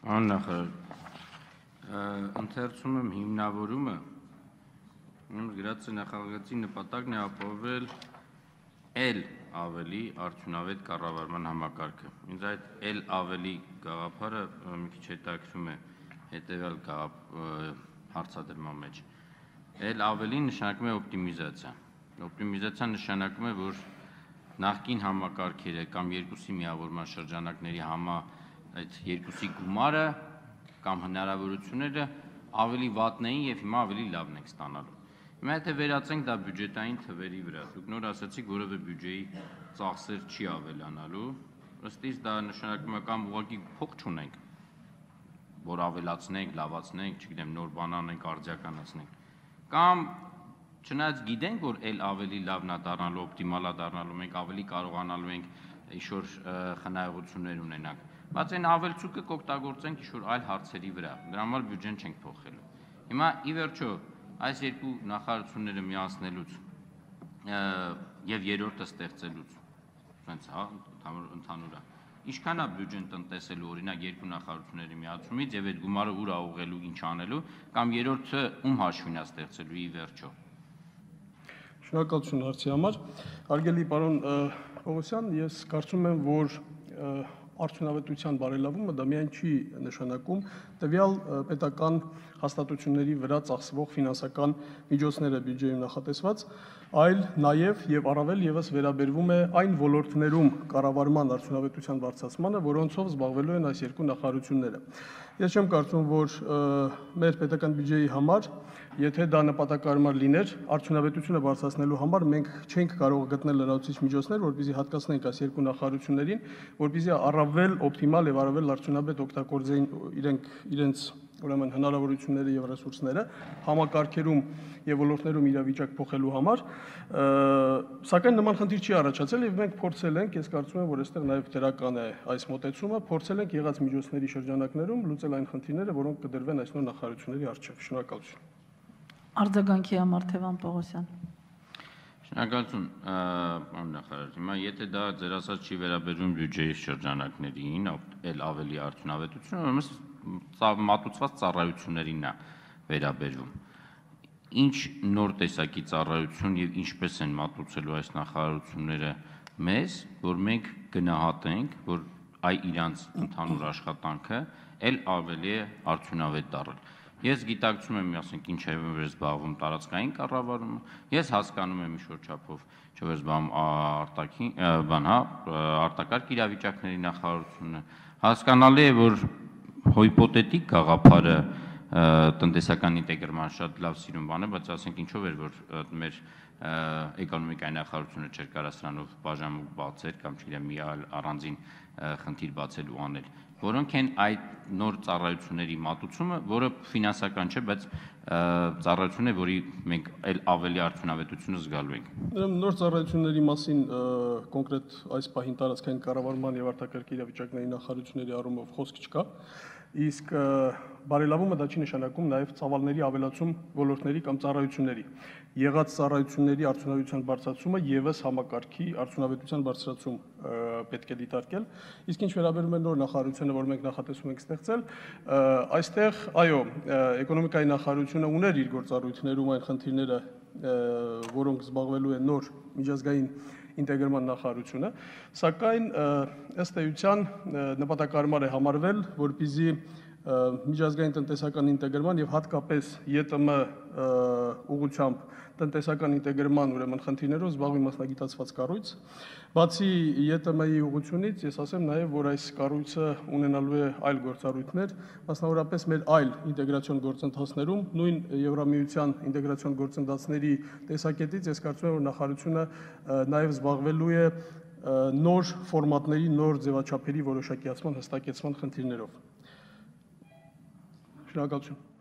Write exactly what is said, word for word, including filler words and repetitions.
Աննախարար, ընթերցում եմ հիմնավորումը, գրած է նախագծի նպատակն է ապահովել էլ ավելի արդյունավետ կառավարման համակարգը։ Ինձ այդ էլ ավելի գաղափարը մի քիչ հետաքրքրում է հետևյալ հարցադրման մեջ։ Էլ ավելի նշանակում է օպտիմիզացիա։ Օպտիմիզացիան նշանակում է, որ նախկին համակարգերը կամ երկուսի միավորման շրջանակների համա այդ երկուսի գումարը կամ հնարավորությունները ավելի վատն էին և հիմա ավելի լավն ենք ստանալու։ Հիմա եթե վերածենք դա բյուջետային թվերի վրա, դուք նոր ասացիք, որևէ բյուջեի ծախսեր չի ավելանալու, ըստ իս դա նշանակում է կամ ուղղակի փող չունենք, որ ավելացնենք, լավացնենք, չգիտեմ, նոր բան անենք, արդիականացնենք, կամ չնայած գիտենք, որ էլ ավելի լավն է դառնալու, օպտիմալ է դառնալու, մենք ավելի կարողանալու ենք ինչ-որ խնայողություններ ունենանք, բայց այն ավելցուկը կօգտագործենք ինչ-որ այլ հարցերի վրա, դրա համար բյուջեն չենք փոխելու։ Հիմա ի վերջո այս երկու նախարարությունները միացնելուց և երրորդը ստեղծելուց, ընդհանուր է, ինչքան է բյուջեն տնտեսելու օրինակ երկու նախարարությունների միացումից և այդ գումարը ուր է ուղղելու, ինչ անելու, կամ երրորդը ում հաշվին է ստեղծելու ի վերջո։ Շնորհակալություն հարցի համար։ Հարգելի պարոն Պողոսյան, ես կարծում եմ, որ արդյունավետության բարելավումը դա միայն չի նշանակում տվյալ պետական հաստատությունների վրա ծախսվող ֆինանսական միջոցները բյուջեում նախատեսված, այլ նաև և առավել ևս վերաբերվում է այն ոլորտներում կառավարման արդյունավետության բարձրացմանը, որոնցով զբաղվելու են այս երկու նախարարությունները։ Ես չեմ կարծում, որ մեր պետական բյուջեի համար, եթե դա նպատակահարմար լիներ, արդյունավետությունը բարձրացնելու համար մենք չենք կարող գտնել լրացուցիչ միջոցներ, որպեսզի հատկացնենք այս երկու նախարարություններին, որպեսզի առավել օպտիմալ և առավել արդյունավետ օգտագործեին իրենք իրենց ուրեմն հնարավորությունները և ռեսուրսները համակարգերում և ոլորտներում իրավիճակ փոխելու համար, սակայն նման խնդիր չի առաջացել և մենք փորձել ենք, ես կարծում եմ, որ այստեղ նաև դրական է այս մոտեցումը, փորձել ենք եղած միջոցների շրջանակներում լուծել այն խնդիրները, որոնք կդրվեն այս նոր նախարարությունների առջև։ Շնորհակալություն։ Արձագանքի համար Թևան Պողոսյան։ Շնորհակալություն, պարոն նախարար։ Հիմա եթե դա ձեր ասած չի վերաբերվում բյուջեի շրջանակներին, էլ ավելի արդյունավետություն, ուրեմն մատուցված ծառայություններին է վերաբերվում։ Ինչ նոր տեսակի ծառայություն և ինչպես են մատուցելու այս նախարարությունները մեզ, որ մենք գնահատենք, որ այ իրանց ընդհանուր աշխատանքը էլ ավելի է արդյունավետ դառել։ Ես գիտակցում եմ, ասենք, ինչ է որ զբաղվում տարածքային կառավարումը, ես հասկանում եմ ինչ-որ չափով, չէ՞ որ զբաղվում արտաքին, բան, հա, արտակարգ իրավիճակների նախարարությունը, հասկանալի է, որ հիպոթետիկ գաղափարը տնտեսական ինտեգրման շատ լավ սիրուն բան է, բայց ասենք ինչով էր, որ մեր էկոնոմիկայի նախարարությունը չէր կարող սրանով բաժանմունք բացել կամ չգիտեմ մի այլ առանձին խնդիր բացել ու անել, որոնք են այդ նոր ծառայությունների մատուցումը, որը ֆինանսական չէ, բայց ծառայություն է, որի մենք էլ ավելի արդյունավետությունը զգալու ենք։ Նոր ծառայությունների մասին կոնկրետ այս պահին տարածքային կառավարման և արտակարգ իրավիճակների նախարարությունների առումով խոսք չկա, իսկ բարելավումը դա չի նշանակում նաև ծավալների ավելացում ոլորտների կամ ծառայությունների։ Եղած ծառայությունների արդյունավետության բարձրացումը ևս համակարգի արդյունավետության բարձրացում պետք է դիտարկել, իսկ ինչ վերաբերում է նոր նախարարությունը, որ մենք նախատեսում ենք ստեղծել, այստեղ, այո, էկոնոմիկայի նախարարությունը ուներ իր գործառույթներում այն խնդիրները, որոնք զբաղվելու են նոր միջազգային ինտեգրման նախարարությունը, սակայն ըստ էության նպատակահարմար է համարվել, որպեսզի միջազգային տնտեսական ինտեգրման և հատկապես ԵՏՄ ուղղությամբ տնտեսական ինտեգրման ուրեմն խնդիրներով զբաղվի մասնագիտացված կառույց։ Բացի ԵՏՄ-ի ուղղությունից, ես ասեմ նաև, որ այս կառույցը ունենալու է այլ գործառույթներ, մասնավորապես մեր այլ ինտեգրացիոն գործընթացներում, նույն Եվրամիության ինտեգրացիոն գործընթացների տեսակետից ես կարծում եմ, որ նախարարությունը նաև զբաղվելու է նոր ֆորմատների, նոր ձևաչափերի որոշակիացման, հստակեցման խնդիրներով։ Շնորհակալություն։